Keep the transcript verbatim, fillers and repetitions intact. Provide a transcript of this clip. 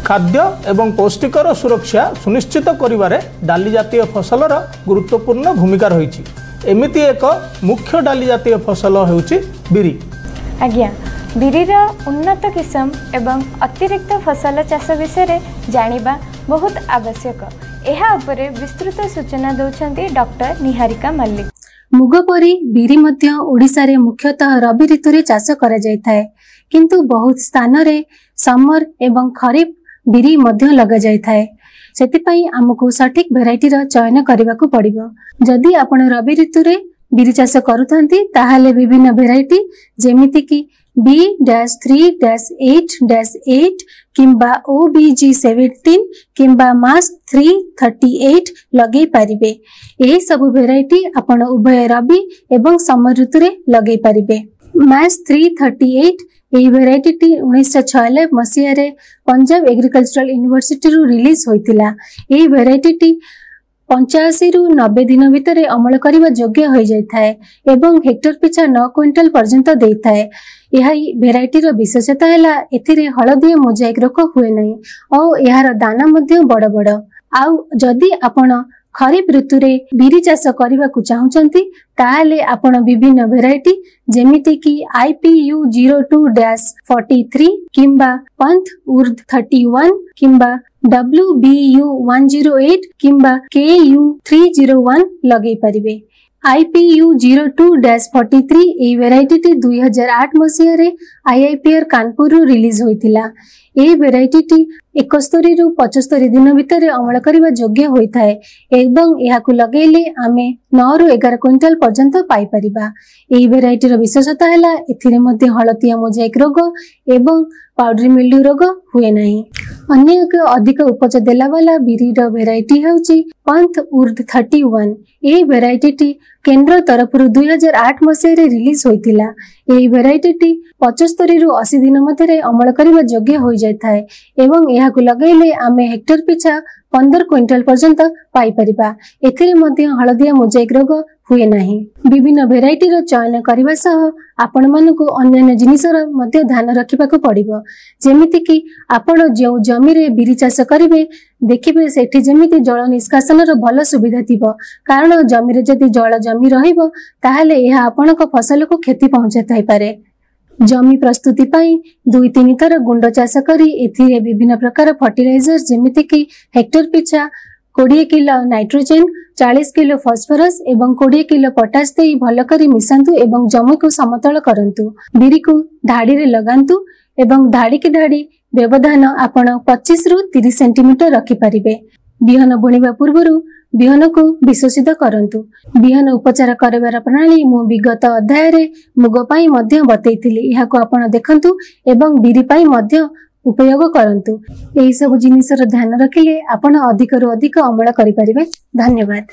ଖାଦ୍ୟ ଏବଂ ପୌଷ୍ଟିକର ସୁରକ୍ଷା ସୁନିଶ୍ଚିତ କରିବାରେ ଡାଲି ଜାତୀୟ ଫସଲର ଗୁରୁତ୍ୱପୂର୍ଣ୍ଣ ଭୂମିକା ରହିଛି। ଏମିତି ଏକ ମୁଖ୍ୟ ଡାଲି ଜାତୀୟ ଫସଲ ହେଉଛି ବିରି। ଆଜ୍ଞା, ବିରିର ଉନ୍ନତ କିସମ ଏବଂ ଅତିରିକ୍ତ ଫସଲ ଚାଷ ବିଷୟରେ ଜାଣିବା ବହୁତ ଆବଶ୍ୟକ। ଏହା ଉପରେ ବିସ୍ତୃତ ସୂଚନା ଦେଉଛନ୍ତି ଡକ୍ଟର ନିହାରିକା ମଲ୍ଲିକ। ମୁଗ ପରି ବିରି ମଧ୍ୟ ଓଡ଼ିଶାରେ ମୁଖ୍ୟତଃ ରବି ଋତୁରେ ଚାଷ କରାଯାଇଥାଏ, କିନ୍ତୁ ବହୁତ ସ୍ଥାନରେ ସମର ଏବଂ ଖରିଫ ବିରି ମଧ୍ୟ ଲଗାଯାଇଥାଏ। ସେଥିପାଇଁ ଆମକୁ ସଠିକ ଭେରାଇଟିର ଚୟନ କରିବାକୁ ପଡ଼ିବ। ଯଦି ଆପଣ ରବି ଋତୁରେ ବିରି ଚାଷ କରୁଥାନ୍ତି, ତାହେଲେ ବିଭିନ୍ନ ଭେରାଇଟି ଯେମିତିକି ବି dash three dash eight dash eight କିମ୍ବା ଓ ବି ଜି ସେଭେଣ୍ଟିନ୍ କିମ୍ବା ମାସ୍ ଥ୍ରୀ ଥର୍ଟି ଏଇଟ୍ ଲଗେଇ ପାରିବେ। ଏହି ସବୁ ଭେରାଇଟି ଆପଣ ଉଭୟ ରବି ଏବଂ ସମର ଋତୁରେ ଲଗେଇ ପାରିବେ। ମାସ୍ ଥ୍ରୀ ଥର୍ଟି ଏଇଟ୍ ଏହି ଭେରାଇଟିଟି ଉଣେଇଶହ ଛୟାନବେ ମସିହାରେ ପଞ୍ଜାବ ଏଗ୍ରିକଲଚରାଲ ୟୁନିଭର୍ସିଟିରୁ ରିଲିଜ ହୋଇଥିଲା। ଏହି ଭେରାଇଟିଟି ପଞ୍ଚାଅଶୀରୁ ନବେ ଦିନ ଭିତରେ ଅମଳ କରିବା ଯୋଗ୍ୟ ହୋଇଯାଇଥାଏ ଏବଂ ହେକ୍ଟର ପିଛା ନଅ କୁଇଣ୍ଟାଲ ପର୍ଯ୍ୟନ୍ତ ଦେଇଥାଏ। ଏହା ଭେରାଇଟିର ବିଶେଷତା ହେଲା ଏଥିରେ ହଳଦିଆ ମୋଜାଇକ ରୋଗ ହୁଏ ନାହିଁ ଓ ଏହାର ଦାନା ମଧ୍ୟ ବଡ଼ ବଡ଼। ଆଉ ଯଦି ଆପଣ ଖରିଫ ଋତୁରେ ବିରି ଚାଷ କରିବାକୁ ଚାହୁଁଛନ୍ତି, ତାହେଲେ ଆପଣ ବିଭିନ୍ନ ଭେରାଇଟି ଯେମିତିକି I P U zero two dash forty three କିମ୍ବା ପନ୍ଥ ଉର୍ଦ ଥର୍ଟି ୱାନ୍ କିମ୍ବା W B you one zero eight କିମ୍ବା K U three zero one ଲଗେଇ ପାରିବେ। I P U zero two dash forty three ଏହି ଭେରାଇଟିଟି ଦୁଇ ହଜାର ଆଠ ମସିହାରେ I I P ଆର୍ କାନପୁରରୁ ରିଲିଜ ହୋଇଥିଲା। ଏହି ଭେରାଇଟିଟି ଏକସ୍ତରୀରୁ ପଚସ୍ତରୀ ଦିନ ଭିତରେ ଅମଳ କରିବା ଯୋଗ୍ୟ ହୋଇଥାଏ ଏବଂ ଏହାକୁ ଲଗେଇଲେ ଆମେ ନଅରୁ ଏଗାର କୁଇଣ୍ଟାଲ ପର୍ଯ୍ୟନ୍ତ ପାଇପାରିବା। ଏହି ଭେରାଇଟିର ବିଶେଷତା ହେଲା ଏଥିରେ ମଧ୍ୟ ହଳଦିଆ ମୋଜାଇକ ରୋଗ ଏବଂ ପାଉଡରି ମିଲ୍ଡ୍ୟୁ ରୋଗ ହୁଏ ନାହିଁ। ଅନ୍ୟ ଏକ ଅଧିକ ଉପଜ ଦେଲା ବାଲା ବିରିର ଭେରାଇଟି ହେଉଛି ପନ୍ଥ ଉର୍ଦ ଥର୍ଟି ୱାନ୍। ଏହି ଭେରାଇଟିଟି କେନ୍ଦ୍ର ତରଫରୁ ଦୁଇ ହଜାର ଆଠ ମସିହାରେ ରିଲିଜ ହୋଇଥିଲା। ଏହି ଭେରାଇଟିଟି ପଚସ୍ତରୀରୁ ଅଶୀ ଦିନ ମଧ୍ୟରେ ଅମଳ କରିବା ଯୋଗ୍ୟ ହୋଇଯାଇଥାଏ ଏବଂ ଏହାକୁ ଲଗାଇଲେ ଆମେ ହେକ୍ଟର ପିଛା ପନ୍ଦର କୁଇଣ୍ଟାଲ ପର୍ଯ୍ୟନ୍ତ ପାଇପାରିବା। ଏଥିରେ ମଧ୍ୟ ହଳଦିଆ ମୋଜାଇକ ରୋଗ ହୁଏ ନାହିଁ। ବିଭିନ୍ନ ଭେରାଇଟିର ଚୟନ କରିବା ସହ ଆପଣମାନଙ୍କୁ ଅନ୍ୟାନ୍ୟ ଜିନିଷର ମଧ୍ୟ ଧ୍ୟାନ ରଖିବାକୁ ପଡ଼ିବ, ଯେମିତିକି ଆପଣ ଯେଉଁ ଜମିରେ ବିରି ଚାଷ କରିବେ, ଦେଖିବେ ସେଠି ଯେମିତି ଜଳ ନିଷ୍କାସନର ଭଲ ସୁବିଧା ଥିବ, କାରଣ ଜମିରେ ଯଦି ଜଳ ଜମି ରହିବ ତାହେଲେ ଏହା ଆପଣଙ୍କ ଫସଲକୁ କ୍ଷତି ପହଞ୍ଚାଇଥାଇପାରେ। ଜମି ପ୍ରସ୍ତୁତି ପାଇଁ ଦୁଇ ତିନି ଥର ଗୁଣ୍ଡ ଚାଷ କରି ଏଥିରେ ବିଭିନ୍ନ ପ୍ରକାର ଫର୍ଟିଲାଇଜର ଯେମିତିକି ହେକ୍ଟର ପିଛା କୋଡ଼ିଏ କିଲୋ ନାଇଟ୍ରୋଜେନ, ଚାଳିଶ କିଲୋ ଫସଫରସ୍ ଏବଂ କୋଡ଼ିଏ କିଲୋ ପଟାସ ଦେଇ ଭଲ କରି ମିଶାନ୍ତୁ ଏବଂ ଜମିକୁ ସମତଳ କରନ୍ତୁ। ବିରିକୁ ଧାଡ଼ିରେ ଲଗାନ୍ତୁ ଏବଂ ଧାଡ଼ିକି ଧାଡ଼ି ବ୍ୟବଧାନ ଆପଣ ପଚିଶରୁ ତିରିଶ ସେଣ୍ଟିମିଟର ରଖିପାରିବେ। ବିହନ ବୁଣିବା ପୂର୍ବରୁ ବିହନକୁ ବିଶୋଷିତ କରନ୍ତୁ। ବିହନ ଉପଚାର କରିବାର ପ୍ରଣାଳୀ ମୁଁ ବିଗତ ଅଧ୍ୟାୟରେ ମୁଗ ପାଇଁ ମଧ୍ୟ ବତେଇଥିଲି। ଏହାକୁ ଆପଣ ଦେଖନ୍ତୁ ଏବଂ ବିରି ପାଇଁ ମଧ୍ୟ ଉପଯୋଗ କରନ୍ତୁ। ଏହି ସବୁ ଜିନିଷର ଧ୍ୟାନ ରଖିଲେ ଆପଣ ଅଧିକରୁ ଅଧିକ ଅମଳ କରିପାରିବେ। ଧନ୍ୟବାଦ।